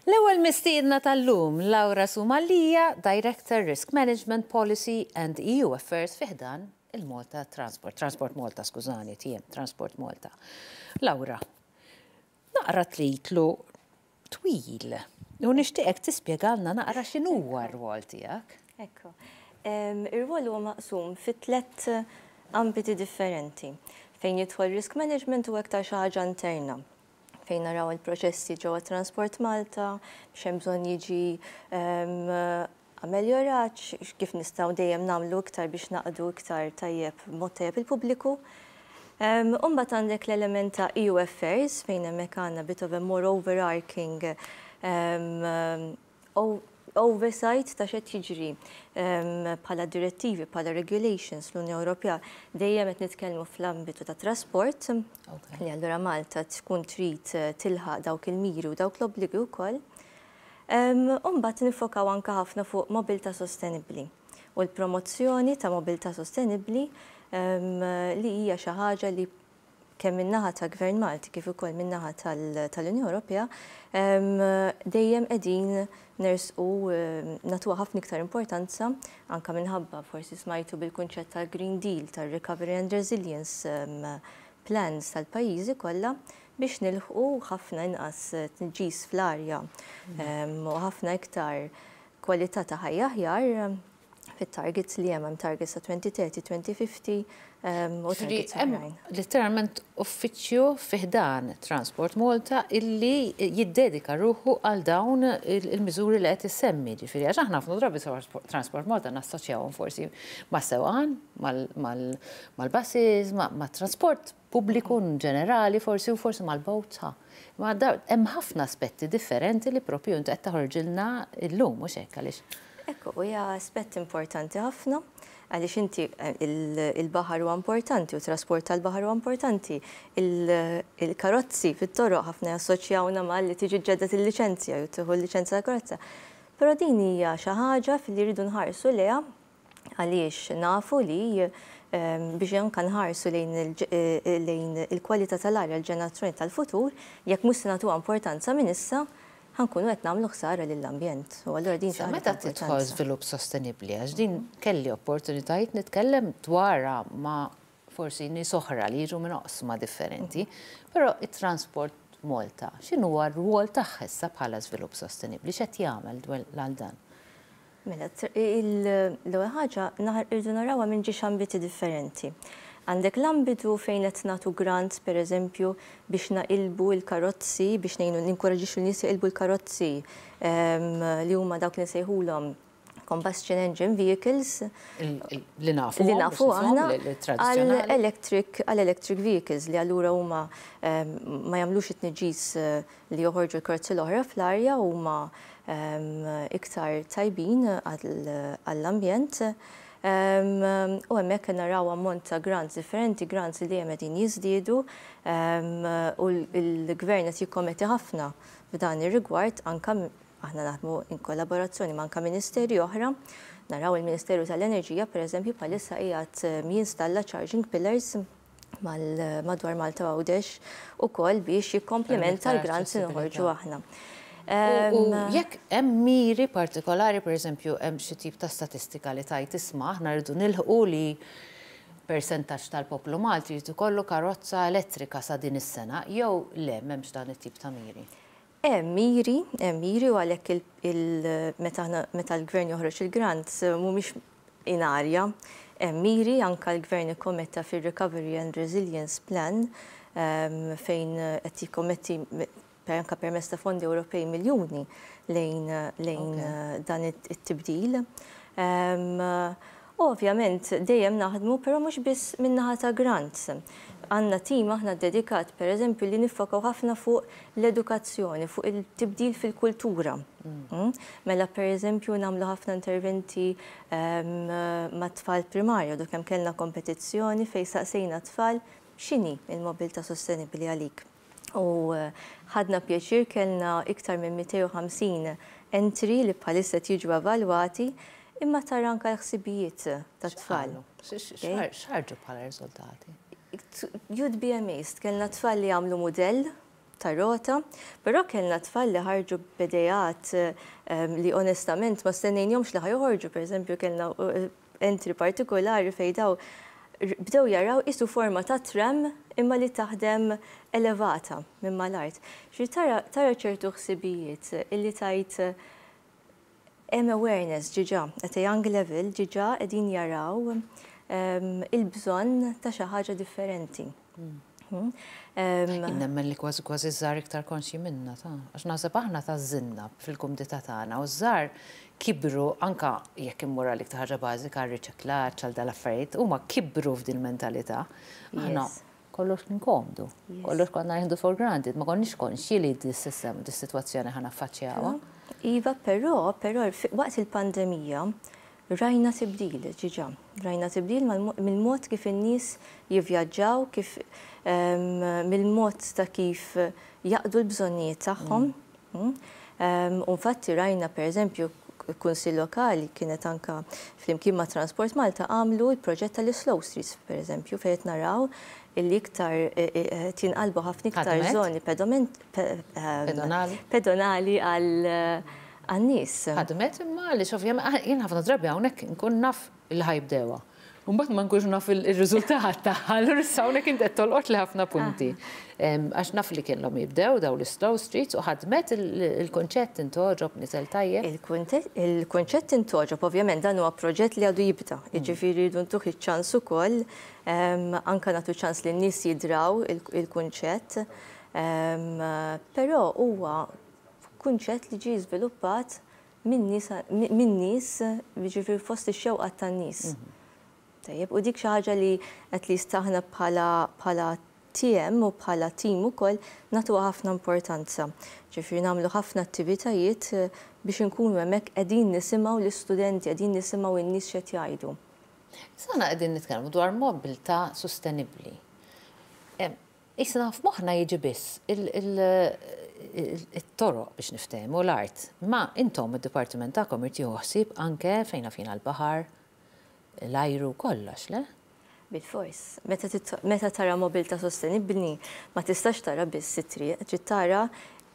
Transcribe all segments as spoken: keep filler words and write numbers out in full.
L-ewwel mistiedna tal-lum, Laura Sumalia, Director Risk Management Policy and E U Affairs fi ħdan il-Malta Transport, Transport Malta, skużani, T M, Transport Malta. Laura, naqra titlu twil. U nixtieqek tispjegalna naqra x'inhuwa r-rwol tiegħek. Ekku. Ir-rwol huwa maqsum fi tliet ambiti differenti. Fejn jidħol risk management u aktar xi ħaġa interna, fejn naraw il-proċessi ġewwa Transport Malta, x'hemm bżonn jiġi ameljorat, kif nistgħu dejjem nagħmlu iktar biex naqdu iktar tajjeb, mod tajjeb il-pubbliku. Imbagħad għandek l-element ta' E U Affairs, fejn hemmhekk għandna bit of a more overarching um, oversight ta' x'qed jiġri bħala direttivi, bħala regulations l-Unjoni Ewropea. Dejjem qed nitkellmu fl-ambitu ta' trasport, li allura Malta tkun trid tilħaq dawk il-miri u dawk l-obbligi wkoll. Imbagħad nifokaw anka ħafna fuq mobilità sostenibbli u l-promozzjoni ta' mobilità sostenibbli, li hija xi ħaġa li kemm min-naħa ta' Gvern Malti kif ukoll min-naħa tal-Unjoni Ewropea dejjem qegħdin nersqu nagħtuha ħafna iktar importanza, anka minħabba forsi smajtu bil-kunċett tal-Green Deal, tal-Recovery and Resilience Plans tal-pajjiżi kollha biex nilħqu ħafna inqas tniġġis fl-arja u ħafna iktar kwalità ta' ħajja aħjar fit-targets li hemm targets ta' elfejn u tletin, elfejn u ħamsin u targets oħrajn. Literalment uffiċċju fi ħdan Transport Malta illi jiddedika ruħu għal dawn il-miżuri li qed issemmi. Ġifieri, għax aħna ħafna drabi Transport Malta nassoċjawhom forsi ma' sewqan, mal-buses, ma' trasport pubbliku ġenerali forsi u forsi mal-boats. Ma hemm ħafna aspetti differenti li propju inti qed taħorġilna llum, mhux hekk, għaliex? Ekku, hija aspett importanti ħafna għaliex inti eh, il-baħar huwa importanti u trasport tal-baħar huwa importanti. Il-karozzi fit-toroq ħafna jassoċjawna mal li tiġi ġġedded il-liċenzja jew tieħu l-liċenzja tal-karozza. Però din hija xi ħaġa fil-li rridu nħarsu lejha għaliex nafu li ehm, biex anka nħarsu lejn eh, il-kwalità tal-arja l-ġenerazzjoni tal-futur, jekk mhux se nagħtuha importanza minn issa, ħa nkunu qed nagħmlu ħsara lill-ambjent. U allura din xi Meta tidħol żvilupp sostenibbli, għax din kelli opportunitajiet nitkellem dwarha ma' forsi nies oħra li jiġu minn oqsma differenti, però it-Transport Malta, x'inhu r-rwol tagħha issa bħala żvilupp sostenibbli, x'qed jagħmel għal dan? Mela, l-ewwel ħaġa irridu narawha minn żewġ ambiti differenti. Għandek l-ambitu fejn qed nagħtu grants, pereżempju, biex naqilbu l-karozzi, biex ngħinu ninkoraġixxu n-nies jaqilbu l-karozzi li huma dawk li nsejħulhom combustion engine vehicles li nafu li nafu aħna għal electric għal electric vehicles, li allura huma ma jagħmlux it-tniġġis eh, li joħorġu l-karozzi l-oħra fl-arja, huma iktar tajbin għall-ambjent. U hemmhekk naraw ammont ta' grants differenti, grants li dejjem qegħdin jiżdiedu u l-gvern qed jikkommetti ħafna f'dan ir-rigward. Anka aħna naħdmu in kollaborazzjoni ma' anka ministeri oħra. Naraw il-Ministeru tal-Enerġija, pereżempju, bħalissa qiegħed jinstalla charging pillars madwar Malta, Għawdex ukoll biex jikkomplementa l-grants li noħorġu aħna. U jekk hemm miri partikolari, per eżempju, hemm xi tip ta' statistika li tajt isma' aħna rridu nilħqu li persentaġġ tal-poplu Malti jrid ikollu karozza elettrika sa din is-sena, jew le, m'hemmx dan it-tip ta' miri? Hemm miri, hemm miri u għalhekk meta l-gvern joħroġ il-grants mhumiex in arja. Hemm miri, anka l-gvern ikkommetta fir-Recovery and Resilience Plan, fejn qed jikkommetti anka permezz ta' fondi Ewropej miljuni lejn lejn dan it-tibdil. Ovvjament dejjem naħdmu, però mhux biss min-naħa ta' grants. Għandna tim aħna dedikat, per eżempju, li niffokaw ħafna fuq l-edukazzjoni, fuq il-tibdil fil-kultura. Mm. Mela, per eżempju, nagħmlu ħafna interventi ma' tfal primarja, dok hemm kellna kompetizzjoni fejn saqsejna tfal x'inhi il-mobilità sostenibbli għalik. U eh, ħadna pjaċir kellna iktar minn mitejn u ħamsin entry li bħalissa jiġu evalwati, imma tara anka l-ħsibijiet tat-tfal. X'ħarġu bħala riżultati? You'd be amazed, kellna tfal li għamlu modell ta' rota, però kellna tfal li ħarġu b'ideat li onestament ma stennejnihomx li ħa joħorġu. Per eżempju, kellna entry partikolari fejn daw bdew jaraw qisu forma ta' tram imma li taħdem elevata minn mal-art. Xi tara ċertu ħsibijiet illi tajt hemm awareness diġà, at a young level diġà qegħdin jaraw il-bżonn ta' xi ħaġa differenti. Hmm. Nemmen li kważi kważi żgħar iktar konxji minna, ta' għax naħseb aħna ta' zinna fil-kumdità tagħna u żgħar kibru, anka jekk immur għal iktar ħaġa bażika, riċiklaġġ, għal dal-affarijiet, huma kibru f'din mentalità. Aħna kollox kien komdu, kollox konna nieħdu for granted, ma konniex konxji li dis-sistema, dis-sitwazzjoni ħa naffaċċjawha. Iva, però, però waqt il-pandemija rajna tibdil, diġà. Rajna tibdil mill-mod kif in-nies jivvjaġġaw, kif mill-mod ta' kif jaqdu l-bżonnijiet tagħhom. Mm. U infatti rajna, per eżempju, Kunsill Lokali kienet anka flimkien ma' Transport Malta għamlu l-proġett tal-Slow Streets, per eżempju, fejn naraw illi iktar e, e, e, tinqalbu ħafna iktar zoni pedonali għal għan-nies. Ħadmet imma li ovvjament jien ħafna drabi hawnhekk nkun naf il ħa jibdewha. Mbagħad ma nkunx naf il-riżultat tagħha, allura issa hawnhekk int qed tolqot li ħafna punti. Għax naf li kienhom jibdew daw l-slow streets u ħadmet, il-konċett intgħoġob, niżel tajjeb? Il-konċett intgħoġob, ovvjament dan huwa proġett li għadu jibda. Mm. Jiġifieri rridu ntuh iċ-ċans ukoll, anka nagħtu ċans li n-nies jidraw il-kunċett. Però huwa kunċett li ġie żviluppat minn nies, jiġifieri fost ix-xewqat tan-nies. Mhm. Tajjeb, u dik xi ħaġa li at least aħna bħala bħala T M u bħala team ukoll nagħtuha ħafna importanza. Ġifieri nagħmlu ħafna attivitajiet eh, biex inkunu hemmhekk qegħdin nisimgħu l-istudenti, qegħdin nisimgħu n-nies x'qed jgħidu. Sana qegħdin nitkellmu dwar mobilità sostenibbli. Issa f'moħħna jiġi biss il-toroq, biex niftehmu, l-art. Ma intom id-dipartiment tagħkom irid jieħu ħsieb anke fejn fina l-baħar, l-ajru, kollox, le? Bil-fors. Meta tara mobilità sostenibbli, ma tistax tara biss it-triq, trid tara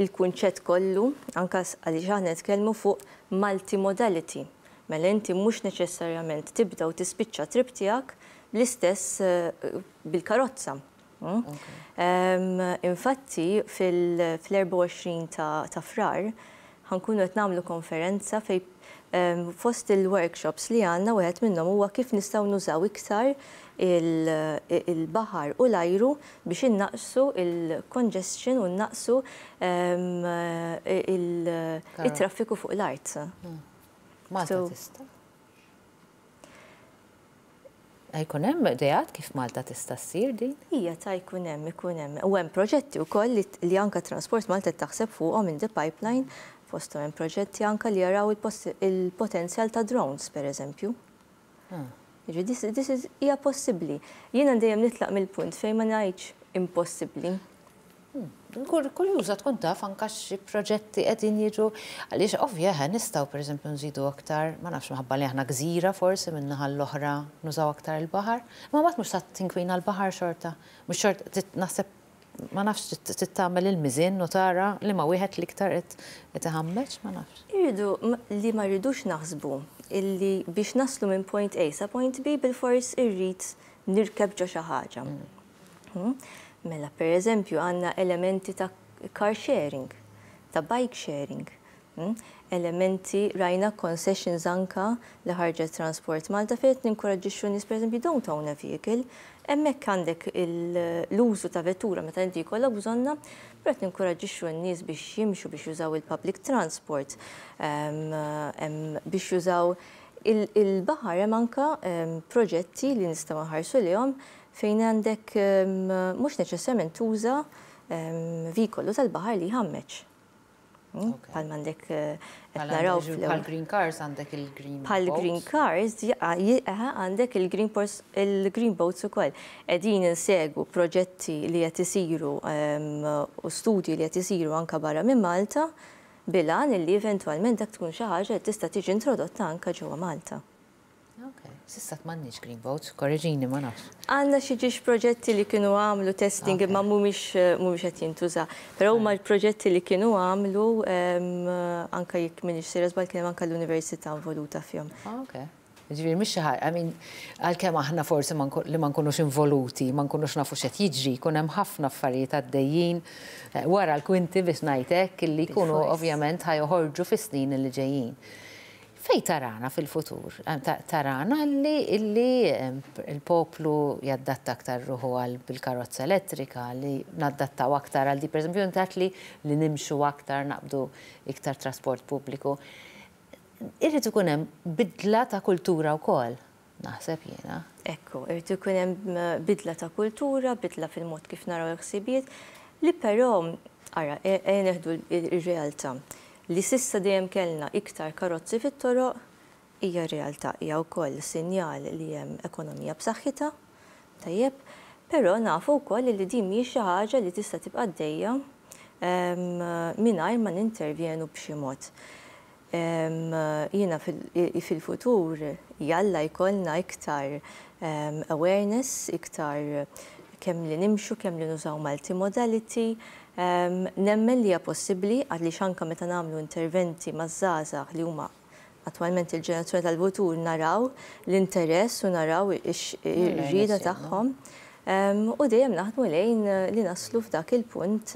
il-kunċett kollu, anka għaliex aħna nitkellmu fuq multimodality. Mela inti mhux neċessarjament tibda u tispiċċa trip tiegħek bl-istess eh, bil-karozza. Mm? Infatti fil-erbgħa u għoxrin ta' Frar ħa nkunu qed nagħmlu konferenza fejn fost il-workshops li għandna wieħed minnhom huwa kif nistgħu nużaw iktar il-baħar u l-ajru biex innaqsu il-congestion u naqsu il-traffiku fuq l-art. Hmm. Malta tista'? Jkun hemm ideat kif Malta tista' ssir din? Ija ta' jkun hemm, ikun hemm. U hemm proġetti wkoll li anka Transport Malta taħseb fuqhom in the pipeline, fosthom hemm proġetti anka li jaraw il-potenzjal ta' drones, per eżempju. Ah. This, this is hija possibbli. Jiena dejjem nitlaq mill-punt fejn ma ngħidx impossibbli. Kurjuża tkun taf anka xi proġetti qegħdin jiġu, għaliex ovvja nistgħu, pereżempju, nżidu aktar, ma nafx, minħabba li aħna gżira, forsi min-naħa l-oħra nużaw aktar il-baħar. Ma mbagħad mhux ta' tinkwina l-baħar xorta. Mhux xorta naħseb, ma nafx, tagħmel il-miżin u tara li ma wieħed l-iktar qed iħammeġ, ma nafx. Irridu li ma rridux naħsbu illi biex naslu minn point A sa point B bil-fors irrid nirkeb ġo xi ħaġa. Hmm? Mela, per eżempju, għandna elementi ta' car sharing, ta' bike sharing. Hmm? Elementi rajna concessions anka li ħarġet Transport Malta fejn ninkoraġġixxu nies, per eżempju, don't own a vehicle. Hemmhekk għandek l-użu ta' vettura meta inti jkollok bżonna, però qed ninkoraġġixxu n-nies biex jimxu, biex jużaw il-public transport, biex jużaw il-baħar. Hemm anka proġetti li nistgħu nħarsu lihom fejn għandek mhux neċessarjament tuża vehicle tal-baħar li jħammeġ. Hmm? Bħal m'għandek eh, naraw bħal green cars, għandek il-green Bħal green cars, għandek il-green il-green boats ukoll. Qegħdin insegwu proġetti li qed isiru u studji li qed isiru anka barra minn Malta bil-għan illi eventwalment dak tkun xi ħaġa li tista' tiġi introdotta anka ġewwa Malta. Ok. S'issa m'għandniex green boats, korreġini, ma nafx. Għandna xi ġiex proġetti li kienu għamlu testing, imma mhumiex mhumiex qed jintuża. Però huma l-proġetti li kienu għamlu, anka jekk m'iniex sejra żball, kien hemm anka l-università involuta fihom. Ah, ok. Ġifieri mhix xi ħaġa, I mean, għalkemm aħna forsi li ma nkunux involuti, ma nkunux nafu x'qed jiġri, jkun hemm ħafna affarijiet għaddejjin eh, wara l-kwinti, biex ngħidlek, li jkunu ovvjament ħa joħorġu fis-snin li ġejjin. Fej tarana fil-futur? Eh, tarana li illi il-poplu jaddatta aktar ruħu għal bil-karozza elettrika, li naddattaw aktar għal di, per eżempju, li li nimxu aktar, naqbdu iktar trasport pubbliku. Irrid ikun hemm bidla ta' kultura wkoll, naħseb jiena. Ekku, irrid ikun hemm bidla ta' kultura, bidla fil-mod kif naraw il-ħsibijiet, li però, ara, e, e neħdu ir-realtà. Li s'issa dejjem kellna iktar karozzi fit-toroq hija realtà, hija wkoll sinjal li hemm ekonomija b'saħħitha, tajjeb, però nafu wkoll li din mhijiex xi ħaġa li tista' tibqa' għaddejja mingħajr ma nintervjenu b'xi mod. Jiena fil-futur jalla jkollna iktar awareness, iktar kemm li nimxu, kemm li nużaw multimodality. Nemmen li hija possibbli, għaliex anke meta nagħmlu interventi maż-żgħażagħ, li huma attwalment il-ġenerazzjoni tal-futur, naraw l-interess u naraw ir-rieda tagħhom. U dejjem naħdmu lejn li naslu f'dak il-punt.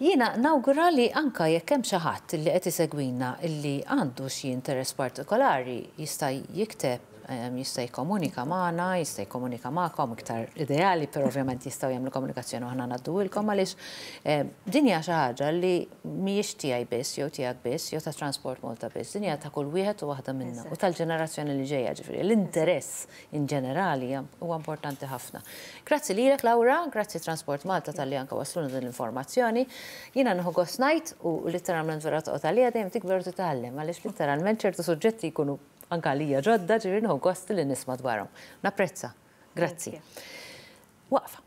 Jiena nawgura li anka jekk hemm xi ħadd li qed isegwina illi għandu xi interess partikolari, jista' jikteb, jista' jikkomunika magħna, jista' jikkomunika magħkom iktar ideali, però ovvjament jistgħu jagħmlu komunikazzjoni u aħna ngħadduhilkom, għaliex din hija xi ħaġa li mhijiex tiegħi biss jew tiegħek biss jew ta' Transport Malta biss, din hija ta' kull wieħed u waħda minna u tal-ġenerazzjoni li ġejja. Ġifieri l-interess in ġenerali huwa importanti ħafna. Grazzi lilek, Laura, grazzi Transport Malta talli anke wasluna din l-informazzjoni. Jiena nieħu gost ngħid, u letteralment vera toqgħod għalija, dejjem tikber u titgħallem, għaliex letteralment ċertu suġġetti jkunu anke għalija ġodda, ġifieri nieħu gost li nisma' dwarhom. Napprezza. Grazzi. Waqfa.